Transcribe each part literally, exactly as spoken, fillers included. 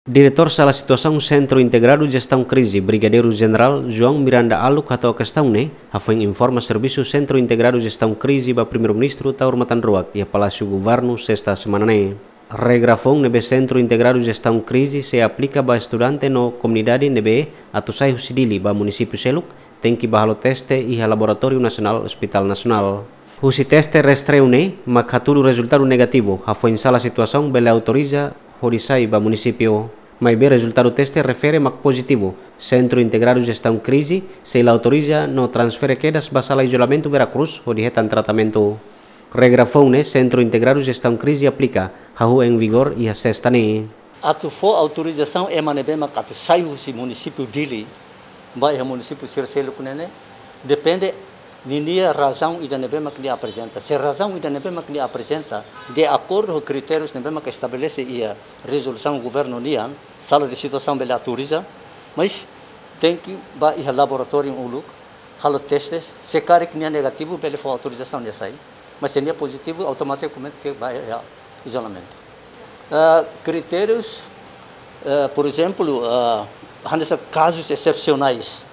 Diretór Sala Situasaun Sentru Integradu Jestaun Krize, Brigadeiru Jenerál João Miranda Aluk, hato'o kestaun ne'e, hafoin informa servisu Sentru Integradu Jestaun Krize ba Primeiru-Ministru Taur Matan Ruak iha Palásiu Governu, sesta semana ne'e. Regra foun ne'ebé Sentru Integradu Jestaun Krize sei aplika ba estudante no komunidade ne'ebé atu sai husi Dili ba munisípiu seluk, tenke bá halo teste iha Laboratóriu Nasionál Hospital Nasionál. Husi teste rastreu ne'e mak hatudu rezultadu negativu, hafoin Sala Situasaun bele autoriza hodi sai ba munisípiu. Maibé rezultadu teste refere mak pozitivu, Sentru Integradu Jestaun Krize sei la autoriza no transfere kedas ba sala izolamentu Vera Cruz hodi hetan tratamentu. Regra foun ne'e Sentru Integradu Jestaun Krize aplika, hahú em vigor iha sesta ne'e. Atu fó autorizasaun ema ne'ebé mak atu sai husi munisípiu Dili ba iha munisípiu sira seluk ne'e, depende ninia razaun ida ne'ebé mak nia aprezenta. Se razaun ida ne'ebé mak nia aprezenta de akordu ho kritérius ne'ebé mak estabelese iha rezolusaun governu nian, Sala de Situasaun bele autoriza, mas tenke bá iha laboratóriu uluk, halo teste, se karik nia negativu bele fó autorizasaun nia sai, mas se nia pozitivu automatikamente tenke bá iha izolamentu. Ah, kritérius, ah, por ezemplu, ah, hanesan kazus esepsionais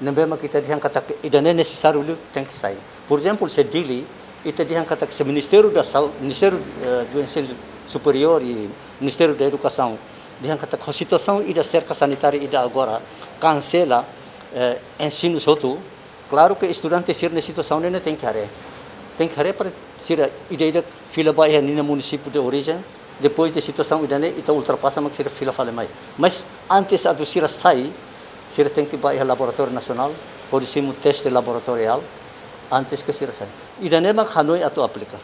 ne'ebé mak ita dehan katak ida-ne'e nesesáriu liu tenke sai. Por ezemplu, se Dili, ita dehan katak se Ministériu da Sau-, Ministériu, eh, do Ensinu Superiór i Ministériu da Edukasaun dehan katak ho situasaun ida serka sanitária ida agora kansela, eh, ensinu hotu, klaru ke estudante sira-nia situasaun ne'e tenke haree. Tenke haree para sira ida-idak fila ba iha ninia munisípiu de orijen, depois de situasaun ida-ne'e ita ultrapasa mak sira fila fali mai. Mas antes atu sira sai, sira tenke bá iha Laboratóriu Nasionál, hodi simu teste laboratoriál, antes ke sira sai. Ida-ne'e mak hanoin atu aplika.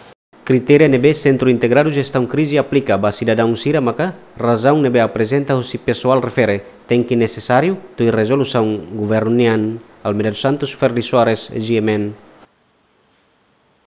Kritéria ne'ebé Sentru Integradu Jestaun Krize aplika ba sidadaun sira maka razaun ne'ebé aprezenta husi pesoál refere tenke nesesáriu tuir rezolusaun governu nian. Almeida dos Santos, Ferdi Soares, G M N.